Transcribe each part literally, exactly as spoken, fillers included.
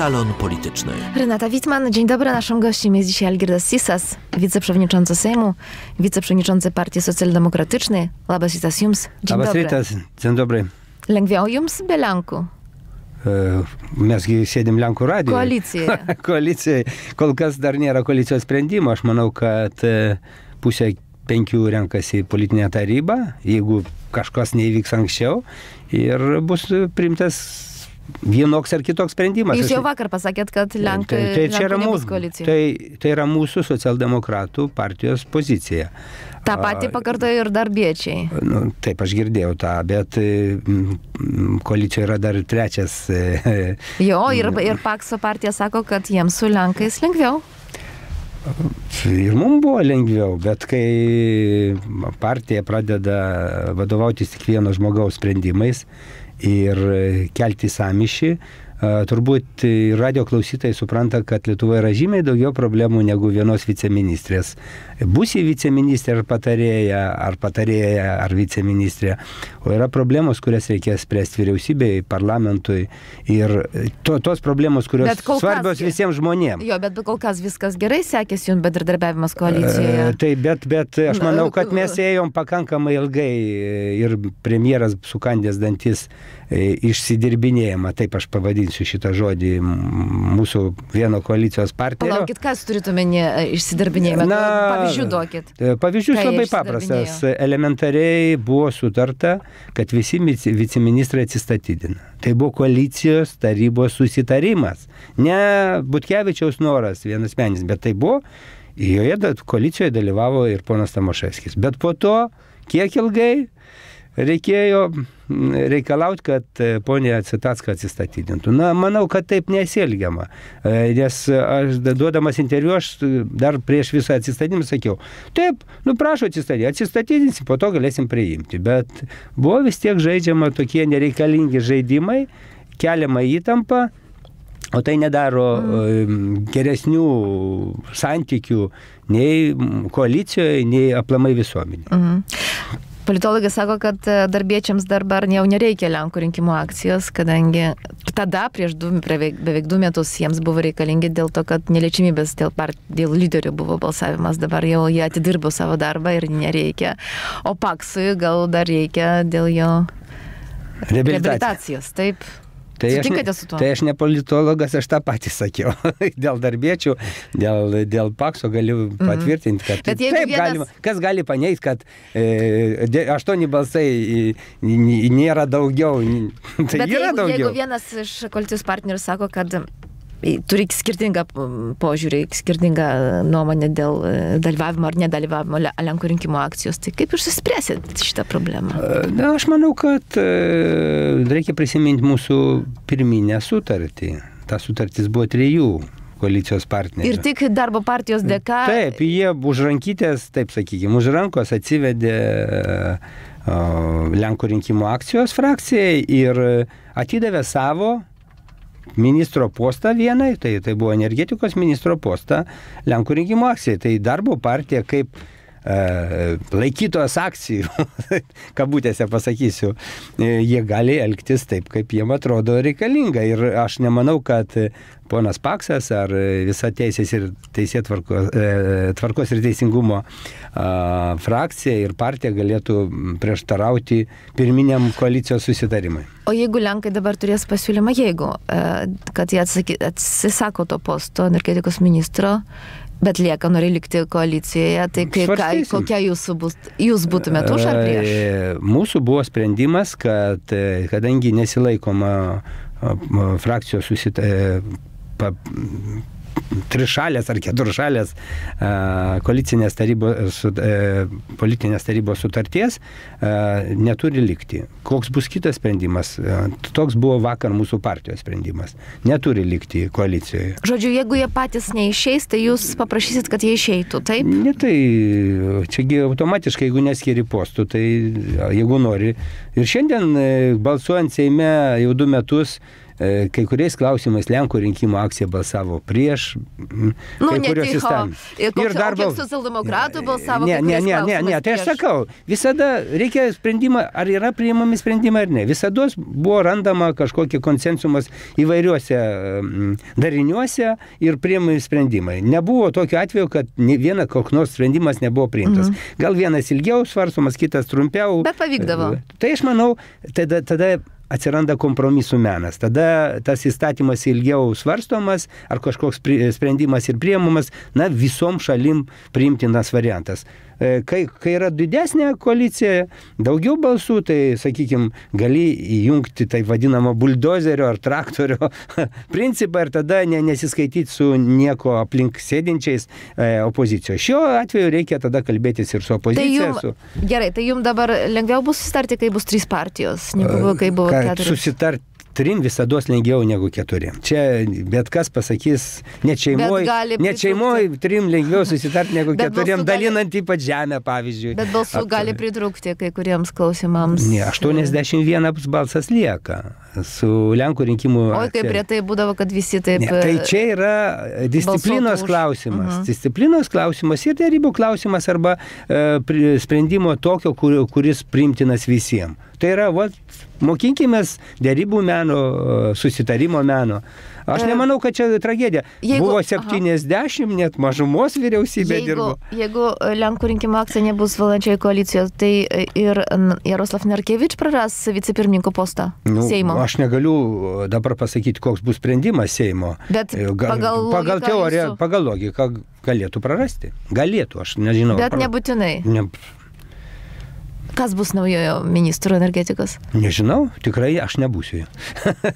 Salon Polityczny. Renata Wittmann, dzień dobry. Naszym gościem jest dzisiaj Algirdas Sysas, wiceprzewodniczący Sejmu, wiceprzewodniczący Partii Socjaldemokratycznej. Labas rytas jums. Dzień Labas dobry. rytas, dzień dobry. Lengviau jums be Lenkų? Mes sėdim Lenkų radijoje. Koalicijoje. Koalicijai. Kol kas dar nėra koalicijos sprendimo. Aš manau, kad pusė penkių renkasi politinę tarybą, jeigu kažkas neįvyks anksčiau, ir bus priimtas vienoks ar kitoks sprendimas. Jūs jau vakar pasakėt, kad Lenkai, tai, tai, Lenkų nebus koalicijoje. Tai, tai yra mūsų socialdemokratų partijos pozicija. Ta pati pakartojo ir darbiečiai. Nu, taip, aš girdėjau tą, bet koalicijoje yra dar trečias. Jo, ir, ir Pakso partija sako, kad jiems su Lenkais lengviau. Ir mums buvo lengviau, bet kai partija pradeda vadovautis tik vieno žmogaus sprendimais ir kelti sąmyšį, turbūt radio klausytojai supranta, kad Lietuvoje yra žymiai daugiau problemų negu vienos viceministrės. Būsi viceministrė ar patarėja, ar patarėja, ar viceministrė. O yra problemos, kurias reikės spręsti vyriausybei, parlamentui. Ir to, tos problemos, kurios svarbios kas, visiems žmonėms. Jo, bet kol kas viskas gerai sekėsi jums bendradarbiavimas koalicijoje. E, tai, bet, bet aš manau, kad mes ėjom pakankamai ilgai ir premjeras sukandęs dantis išsidirbinėjama, taip aš pavadinsiu šitą žodį, mūsų vieno koalicijos partnerio. Palaukit, kas turit omenyje išsidirbinėjimą? Na, pavyzdžių duokit. Pavyzdžius labai paprastas. Elementariai buvo sutarta, kad visi viceministrai atsistatydina. Tai buvo koalicijos tarybos susitarimas. Ne Butkevičiaus noras vienas menis, bet tai buvo, joje koalicijoje dalyvavo ir ponas Tamoševskis. Bet po to, kiek ilgai reikėjo reikalauti, kad ponė Citacka atsistatydintų. Na, manau, kad taip nesielgiama. Nes aš duodamas interviu, aš dar prieš visą atsistatydinimą sakiau, taip, nu prašau atsistatydinti, atsistatydinsim, po to galėsim priimti. Bet buvo vis tiek žaidžiama tokie nereikalingi žaidimai, keliama įtampa, o tai nedaro mm. geresnių santykių nei koalicijoje, nei aplamai visuomenė. Mm. Politologai sako, kad darbiečiams dabar jau nereikia Lenkų rinkimų akcijos, kadangi tada prieš du, beveik, beveik du metus jiems buvo reikalingi dėl to, kad neliečiamybės dėl, part, dėl lyderių buvo balsavimas. Dabar jau jie atidirbo savo darbą ir nereikia. O Paksui gal dar reikia dėl jo reabilitacijos. Taip. Tai aš, ne, tai aš ne politologas, aš tą patį sakiau. Dėl darbiečių, dėl, dėl Pakso galiu patvirtinti, kad mm. taip vienas... galima. Kas gali paneigti, kad e, aštuoni balsai nėra daugiau. Tai Bet yra jeigu, daugiau. Jeigu vienas iš koalicijos partnerių sako, kad turi skirtingą požiūrį, skirtingą nuomonę dėl dalyvavimo ar nedalyvavimo Lenkų rinkimų akcijos, tai kaip išsispręsit šitą problemą? Na, aš manau, kad reikia prisiminti mūsų pirminę sutartį. Ta sutartis buvo trijų koalicijos partnerių. Ir tik darbo partijos dėka... Taip, jie už rankytės, taip sakykime, už rankos atsivedė Lenkų rinkimų akcijos frakcijai ir atidavė savo ministro postą vienai, tai, tai buvo energetikos ministro postą Lenkų rinkimų akcijai. Tai darbo partija kaip e, laikytos akcijų, kabutėse pasakysiu, e, jie gali elgtis taip, kaip jiem atrodo reikalinga. Ir aš nemanau, kad ponas Paksas ar visa teisės ir teisėtvarkos e, tvarkos ir teisingumo e, frakcija ir partija galėtų prieštarauti pirminiam koalicijos susitarimui. O jeigu Lenkai dabar turės pasiūlymą, jeigu, kad jie atsaky, atsisako to posto energetikos ministro, bet lieka nori likti koalicijoje, tai kaip, ką, kokia jūsų bus, jūs būtumėt už ar prieš? Mūsų buvo sprendimas, kad kadangi nesilaikoma frakcijos susitarimų, trišalės ar keturšalės koalicinės tarybos, politinės tarybos sutarties neturi likti. Koks bus kitas sprendimas? Toks buvo vakar mūsų partijos sprendimas. Neturi likti koalicijoje. Žodžiu, jeigu jie patys neišeis, tai jūs paprašysit, kad jie išeitų, taip? Ne, tai čiagi automatiškai, jeigu neskiri postų, tai jeigu nori. Ir šiandien balsuojant Seime jau du metus kai kuriais klausimais Lenkų rinkimų akcija balsavo prieš nu, kai kurios įstatymus. Ir darbo... kiek socialdemokratų balsavo ne, ne, ne, ne, ne, tai aš sakau, visada reikia sprendimą, ar yra priimami sprendimai ar ne. Visada buvo randama kažkokie konsensumas įvairiuose dariniuose ir priimami sprendimai. Nebuvo tokio atveju, kad viena koks nors sprendimas nebuvo priimtas. Mhm. Gal vienas ilgiau svarstomas, kitas trumpiau. Bet pavykdavo. Tai aš manau, tada, tada atsiranda kompromisų menas. Tada tas įstatymas ilgiau svarstomas, ar kažkoks sprendimas ir priimamas, na, visom šalim priimtinas variantas. Kai, kai yra didesnė koalicija, daugiau balsų, tai, sakykime, gali įjungti tai vadinamo buldozerio ar traktorio principą ir tada ne, nesiskaityti su nieko aplink sėdinčiais e, opozicijos. Šiuo atveju reikia tada kalbėtis ir su opozicija. Tai jum, su... Gerai, tai jums dabar lengviau bus susitarti, kai bus trys partijos, negu kai buvo keturios? Susitarti trim visados lengviau negu keturiem. Čia bet kas pasakys, net šeimoj, net šeimoj trim lengviau susitarti negu keturiem, dalinant ypač žemę, pavyzdžiui. Bet balsų Ap... gali pritrūkti kai kuriems klausimams. Ne, aštuoniasdešimt vienas balsas lieka su Lenkų rinkimų akcija. Oi, kaip prie tai būdavo, kad visi taip... Ne, tai čia yra disciplinos klausimas. Uh-huh. Disciplinos klausimas ir derybų klausimas arba e, sprendimo tokio, kur, kuris priimtinas visiems. Tai yra, va, mokinkimės derybų meno, susitarimo meno. Aš nemanau, kad čia tragedija. Jeigu, buvo septyniasdešimt, aha. net mažumos vyriausybė jeigu, dirbo. Jeigu Lenkų rinkimų akcija nebus valdančioje koalicijos, tai ir Jaroslav Narkevič praras vicepirmininko postą nu, Seimo. Aš negaliu dabar pasakyti, koks bus sprendimas Seimo. Bet pagal, pagal teoriją, jūsų... pagal logiką galėtų prarasti. Galėtų, aš nežinau. Bet pra... nebūtinai. Ne... Kas bus naujojo ministro energetikos? Nežinau, tikrai aš nebūsiu.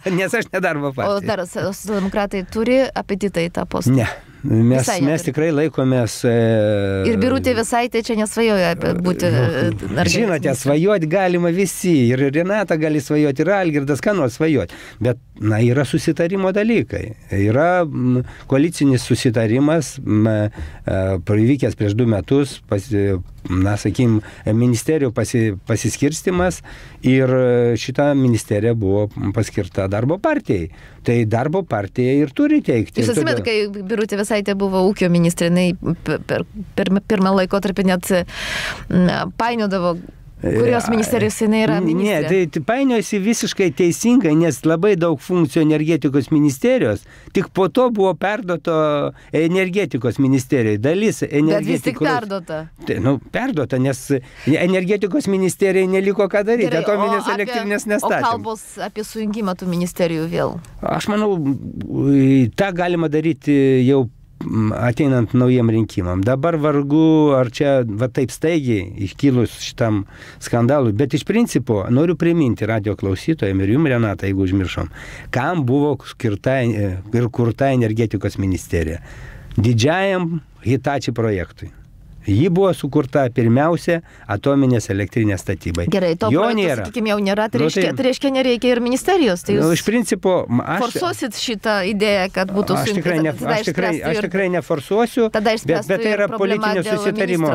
Nes aš nedarbo partija. O dar socialdemokratai turi apetitą į tą postą? Ne. Mes, mes tikrai laikomės... E... Ir Birutė Vėsaitė čia nesvajoja apie būti... Nu, žinote, svajoti galima visi. Ir Renata gali svajoti, ir Algirdas, ką nors svajoti. Bet, na, yra susitarimo dalykai. Yra m, koalicinis susitarimas, m, e, įvykęs prieš du metus, pas, na, sakykim, ministerijų pasi, pasiskirstimas ir šita ministerija buvo paskirta darbo partijai. Tai darbo partija ir turi teikti. Jūs atsimėt, kai Birutė Vėsaitė buvo ūkio ministrė, jinai per, per, per pirmą laikotarpį net painiodavo, kurios ministerijos jinai yra ministrė. Ne, tai, tai painiojasi visiškai teisingai, nes labai daug funkcijų energetikos ministerijos, tik po to buvo perduoto energetikos ministerijai. Dalis energetikos... Bet vis tik perduota. Tai, nu, perduota, nes energetikos ministerijai neliko ką daryti, Gerai, atominės elektrinės nestatėm. O kalbos apie sujungimą tų ministerijų vėl? Aš manau, tą galima daryti jau ateinant naujiem rinkimam. Dabar vargu, ar čia va taip staigiai iškilus šitam skandalui, bet iš principo noriu priminti radio klausytojams ir jums, Renata, jeigu užmiršom, kam buvo skirta ir kurta energetikos ministerija. Didžiajam Hitachi projektui. Ji buvo sukurta pirmiausia atominės elektrinės statybai. Gerai, to jo projekto, nėra. Sakykime, jau nėra, tai reiškia, tai reiškia nereikia ir ministerijos. Tai jūs nu, iš principo, aš, forsuosit šitą idėją, kad būtų aš tikrai, ne, aš tikrai, aš tikrai neforsuosiu, bet, bet tai yra politinio susitarimo,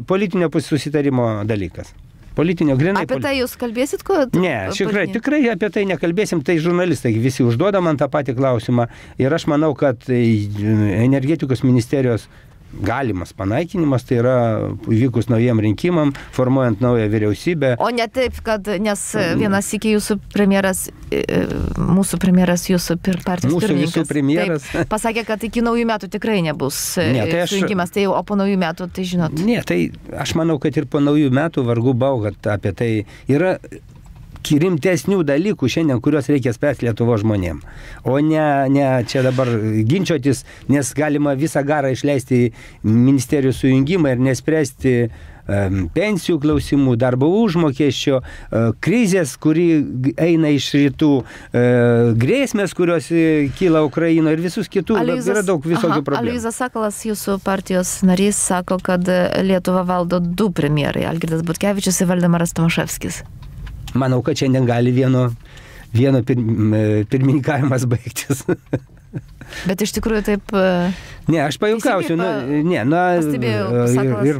politinio susitarimo dalykas. Politinio, grinai. Apie tai jūs kalbėsit, ko? Ne, tikrai, tikrai apie tai nekalbėsim, tai žurnalistai visi užduoda man tą patį klausimą ir aš manau, kad energetikos ministerijos galimas panaikinimas, tai yra vykus naujiem rinkimam, formuojant naują vyriausybę. O ne taip, kad, nes vienas iki jūsų premjeras, mūsų premjeras, jūsų partijos mūsų pirmininkas, visų premjeras, taip, pasakė, kad iki naujų metų tikrai nebus ne, tai aš, sujungimas, tai, o po naujų metų, tai žinot. Ne, tai aš manau, kad ir po naujų metų vargu bau, kad apie tai yra rimtesnių dalykų šiandien, kuriuos reikia spręsti Lietuvos žmonėm. O ne, ne čia dabar ginčiotis, nes galima visą garą išleisti į ministerijų sujungimą ir nespręsti um, pensijų klausimų, darbo užmokesčio, uh, krizės, kuri eina iš rytų, uh, grėsmės, kurios kyla Ukrainoje ir visus kitų. Aloyzas, yra daug visokių aha, problemų. Aloyzas Sakalas, jūsų partijos narys, sako, kad Lietuvą valdo du premjerai, Algirdas Butkevičius ir Valdemaras Tomaševskis. Manau, kad šiandien gali vieno, vieno pir, pirmininkavimas baigtis. Bet iš tikrųjų taip... Ne, aš pajuokausiu. Pa... Ne, na, ir, ir, ir,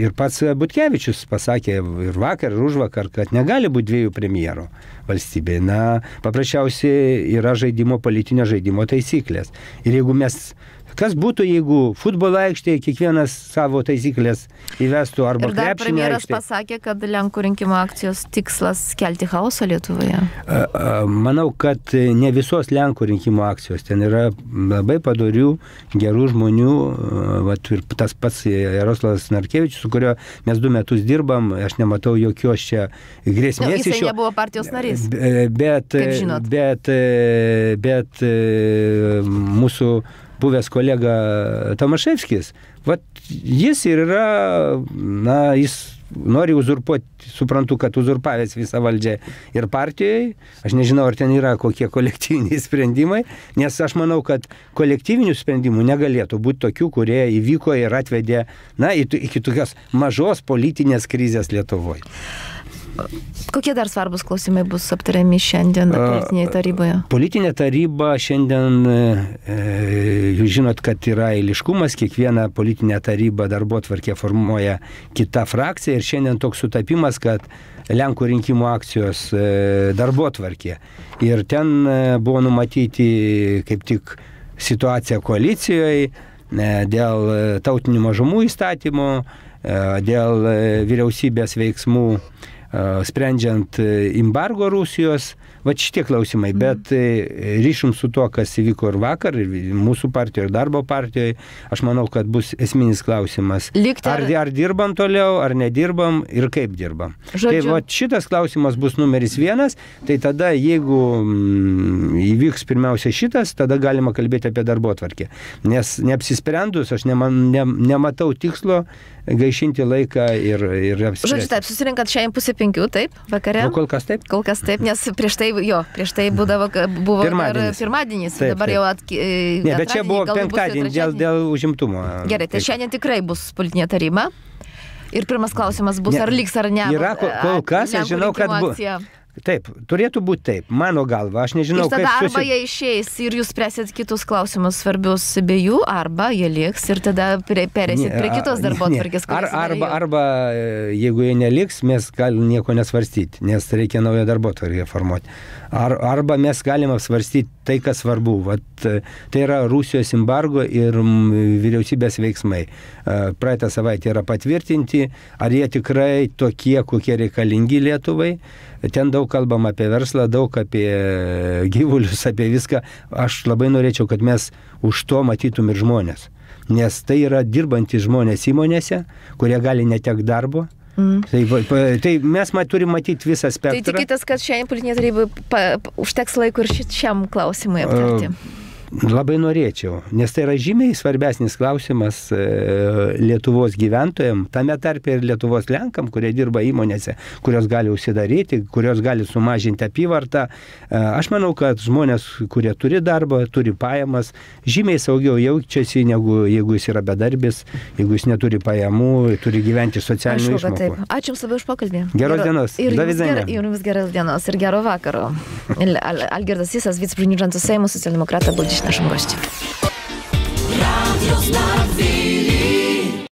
ir pats Butkevičius pasakė ir vakar, ir užvakar, kad negali būti dviejų premjerų valstybėje. Na, paprasčiausiai yra žaidimo, politinio žaidimo taisyklės. Ir jeigu mes... Kas būtų, jeigu futbolo aikštėje kiekvienas savo taisyklės įvestų arba krepšinio aikštėje? Ir dar premjeras pasakė, kad Lenkų rinkimų akcijos tikslas kelti chaosą Lietuvoje. Manau, kad ne visos Lenkų rinkimų akcijos. Ten yra labai padorių, gerų žmonių. Vat, ir tas pats Jaroslavas Narkevičius, su kurio mes du metus dirbam, aš nematau jokios čia grėsmės. Jisai iš jo... nebuvo partijos narys. Bet, bet, bet, bet mūsų buvęs kolega Tomaševskis, vat jis ir yra, na, jis nori uzurpuoti, suprantu, kad uzurpavęs visą valdžią ir partijoje. Aš nežinau, ar ten yra kokie kolektyviniai sprendimai, nes aš manau, kad kolektyvinių sprendimų negalėtų būti tokių, kurie įvyko ir atvedė, na, iki tokios mažos politinės krizės Lietuvoje. Kokie dar svarbus klausimai bus aptariami šiandien politinėje taryboje? Politinė taryba šiandien, jūs žinot, kad yra eiliškumas, kiekviena politinė taryba darbotvarkė formuoja kita frakcija ir šiandien toks sutapimas, kad Lenkų rinkimų akcijos darbotvarkė. Ir ten buvo numatyti kaip tik situacija koalicijoje dėl tautinių mažumų įstatymų, dėl vyriausybės veiksmų sprendžiant embargo Rusijos, va šitie klausimai, mm. bet ryšim su to, kas įvyko ir vakar, ir mūsų partijoje, ir darbo partijoje, aš manau, kad bus esminis klausimas. Ar, ar dirbam toliau, ar nedirbam ir kaip dirbam. Žodžiu. Tai va šitas klausimas bus numeris vienas, tai tada jeigu mm, įvyks pirmiausia šitas, tada galima kalbėti apie darbotvarkę. Nes neapsisprendus, aš nema, ne, nematau tikslo gaišinti laiką ir, ir apspręsti. Žodžiu, taip, susirinkat šiandien pusė penkių, taip, vakare? Nu, kol kas taip. Kol kas taip, nes prieš tai, jo, prieš tai būdavo, buvo pirmadienis, pirmadienis taip, dabar taip. jau atki... Ne, bet čia buvo penktadienį dėl, dėl užimtumo. Gerai, tai taip. Šiandien tikrai bus politinė taryba. Ir pirmas klausimas bus, ne, ar liks ar ne. Yra, kol kas, aš žinau, kad bus. Taip, turėtų būti taip, mano galva, aš nežinau, kaip... Ir tada kaip arba susi... jie išeis ir jūs spręsit kitus klausimus svarbius be jų, arba jie liks ir tada perėsit prie kitos darbotvarkės. Ar, arba, arba, jeigu jie neliks, mes galim nieko nesvarstyti, nes reikia naują darbotvarkę formuoti. Ar, arba mes galime svarstyti tai, kas svarbu. Vat, tai yra Rusijos embargo ir vyriausybės veiksmai. Praeitą savaitę yra patvirtinti, ar jie tikrai tokie, kokie reikalingi Lietuvai. Ten daug kalbam apie verslą, daug apie gyvulius, apie viską. Aš labai norėčiau, kad mes už to matytum ir žmonės. Nes tai yra dirbantys žmonės įmonėse, kurie gali netekti darbo. Mm. Tai, tai mes ma, turim matyti visą spektrą. Tai tikitės, kad šiandien politinė taryba užteks laiko ir šiam klausimui aptarti? Uh. Labai norėčiau, nes tai yra žymiai svarbesnis klausimas e, Lietuvos gyventojams, tame tarpe ir Lietuvos Lenkam, kurie dirba įmonėse, kurios gali užsidaryti, kurios gali sumažinti apyvartą. E, aš manau, kad žmonės, kurie turi darbą, turi pajamas, žymiai saugiau jaučiasi, negu jeigu jis yra bedarbis, jeigu jis neturi pajamų, turi gyventi socialinių išmokų. Ačiū Jums labai už pokalbį. Geros dienos. Ir Jums geros dienos ir gero vakaro. Algirdas Sysas, viceprezidentūros Seimo socialdemokrata, buvo dziś naszym gościem.